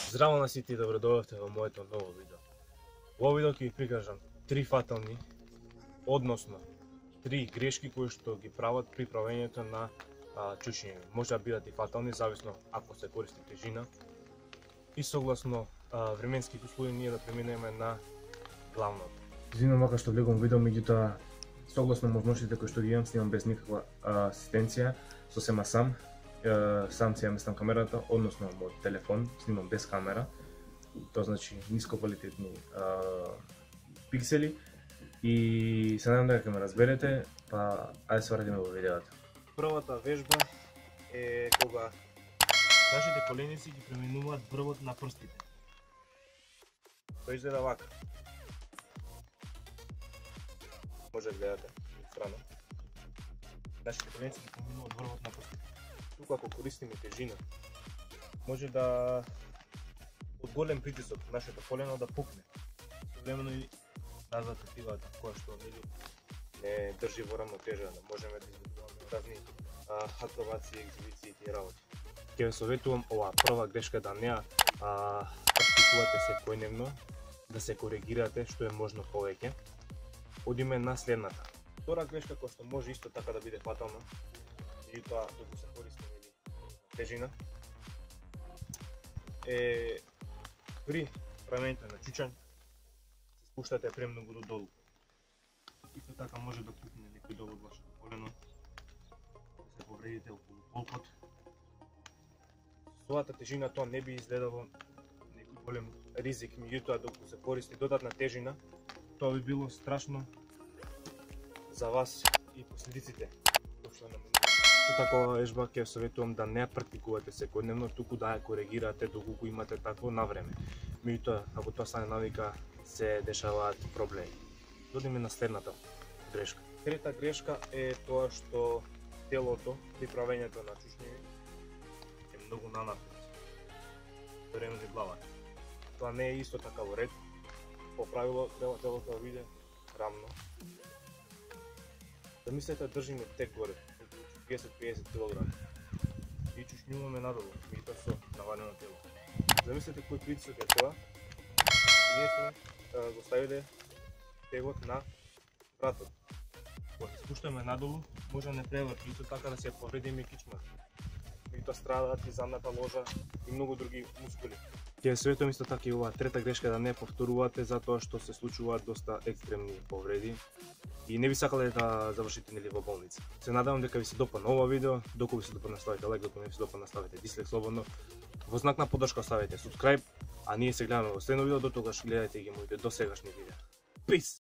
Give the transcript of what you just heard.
Здраво на сите и добродојавте во моето ново видео. Во овој видео ќе ви прикажам 3 фатални, односно 3 грешки кои што ги прават при правењето на чучиња. Може да бидат и фатални, зависно ако се користи тежина. И согласно временските услови ние да преминеме на главното. Извинувам мака што влегувам видео, меѓутоа согласно можностите кои што ги имам, снимам без никаква асистенција, сосема сам. Сам си ја местам камерата, односно мојот телефон, снимам без камера. Тоа значи ниско квалитетни пиксели. И се надам дека ќе ме разберете, па ајде се враќаме во видеото. Првата вежба е кога нашите коленици ги преминуваат врвот на прстите. Тоа изгледа вака. Може да гледате страна. Нашите коленици ги преминуваат врвот на прстите. Тука ако користиме тежина, може да од голем притисок нашето колено да пукне. Современо и назад тивата која што не држи во рамнотежа, да можеме да изведуваме разни акробации, екзибиции и работи. Ќе ве советувам оваа прва грешка да не ја практикувате секојдневно, да се коригирате што е можно повеќе. Одиме на следната. Втора грешка која што може исто така да биде фатална, и тоа докато се користи тежина, е при правењето на чучањ се спуштате премногу додолу. Исто така може да пукне некој дол од вашето колено, да се повредите околу полкот. Со овата тежина тоа не би изгледало некој голем ризик, меѓутоа докато се користи додатна тежина, тоа би било страшно за вас и последиците. Со такова вежба ќе советувам да не ја практикувате секојдневно, туку да ја коригирате доколку имате такво на време. Меѓутоа, ако тоа стане навика, се дешаваат проблеми. Додиме на следната грешка. Трета грешка е тоа што телото при правењето на чучиња е многу нанапред. Време главата. Тоа не е исто така во ред. По правило треба телото да биде рамно. Замислете, држиме тек горе. 50 кг и чучњуваме надолу, и тоа со навалено тело. Замислете кој притисок е тоа. Ние сме го ставиле тегот на вратот. Кога се спуштаме надолу, може да не преврти, исто така да се повредиме кичмата. И тоа страдаат и задната ложа и многу други мускули. Ќе ве советувам исто така и оваа трета грешка да не повторувате, затоа што се случуваат доста екстремни повреди. И не би сакале да завршите нели во болница. Се надевам дека ви се допадна ова видео. Доколку ви се допадна, ставите лайк, доколку не ви се допадна, ставите дислайк слободно. Во знак на поддршка ставите subscribe, а ние се гледаме во следно видео. До тогаш гледајте ги моите досегашни видеа. Peace!